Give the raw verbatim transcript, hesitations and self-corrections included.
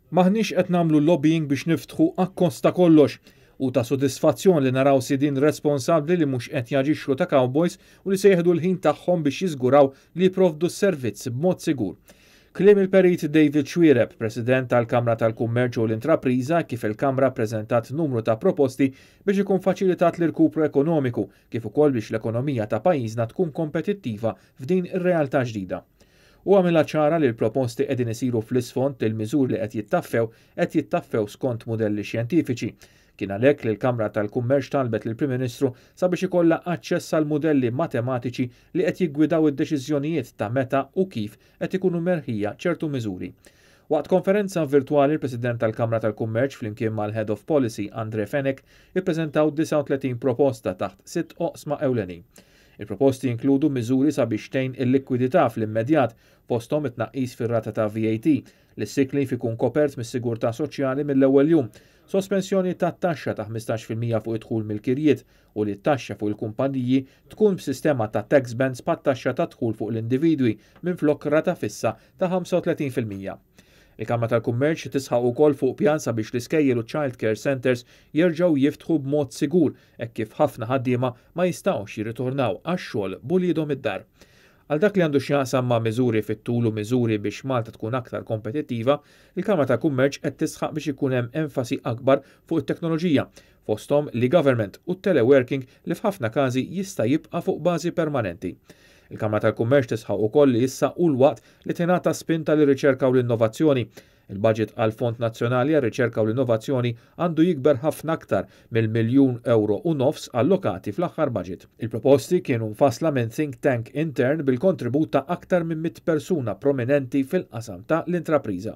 M'aħniex qed nagħmlu lobbying biex niftħu akkost ta' kollox u ta' sodisfazzjon li naraw sidin responsabbli li mhux qed jaġixxu ta' cowboys u li se jieħdu l-ħin tagħhom biex jiżguraw li jipprovdu s-servizz b'mod sigur. Kliem il-Perit David Xuereb, President tal-Kamra tal-Kummerċ u l-Intrapriża, kif il-Kamra preżentat numru ta' proposti biex ikun faċilitat l-irkupru ekonomiku kif ukoll biex l-ekonomija ta' pajjiżna tkun kompetittiva f'din ir-realtà ġdida. U għamilha ċara li l-proposti qegħdin isiru fl-isfond li l-miżuri li qed jittaffew qed jittaffew skont modelli xjentifiċi. Kien għalhekk li l-Kamra tal-Kummerċ talbet lill-Prim Ministru sabiex ikollha aċċess għal mudelli matematiċi li qed jiggwidaw id-deċiżjonijiet ta' meta u kif qed ikunu merħija ċertu miżuri. Waqt konferenza virtuali, il-President tal-Kamra tal-Kummerċ flimkien mal-Head of Policy Andre Fenech ippreżentaw disgħa u tletin proposta taħt sitt oqsma ewlenin. Il-proposti jinkludu miżuri sabiex tgħin il-likwidità fl-immedjat, fosthom it-tnaqqis fir-rata ta' V A T, li s-sick leave ikun kopert mis-sigurtà soċjali mill-ewwel jum, sospensjoni ta' taxxa ta' ħmistax fil-mija fuq id-dħul mill-kirjiet u li t-taxxa fuq il-kumpaniji tkun b'sistema ta' tax bands bħat-taxxa ta' dħul fuq l-individwi minflok rata fissa ta' ħamsa u tletin fil-mija. Il-Kamra tal-Kummerċ tisħaq ukoll fuq pjan sabiex l-iskejjel u child care centers jerġgħu jiftħu b'mod sigur hekk kif ħafna ħaddiema ma jistgħux jirritornaw għax-xogħol b'uliedhom id-dar. Għal dak li għandu x'jaqsam ma' miżuri fit-tul u miżuri biex Malta tkun aktar kompetittiva, il-Kamra tal-Kummerċ qed tisħaq biex ikun hemm enfasi akbar fuq it-teknoloġija, fosthom l-e-government u teleworking li f'ħafna każi jista' jibqa' fuq bażi permanenti. Il-Kamra tal-Kummerċ tisħaq ukoll li issa hu l-waqt li tingħata spinta lir-riċerka u l-innovazzjoni. Il-budget għal Fond Nazzjonali għar-Riċerka u l-Innovazzjoni għandu jikber ħafna aktar mill-miljun euro u nofs allokati fl-aħħar budget. Il-proposti kienu mfassla minn think tank intern bil-kontribut ta' aktar minn mitt persuna prominenti fil-qasam ta' l-intrapriża.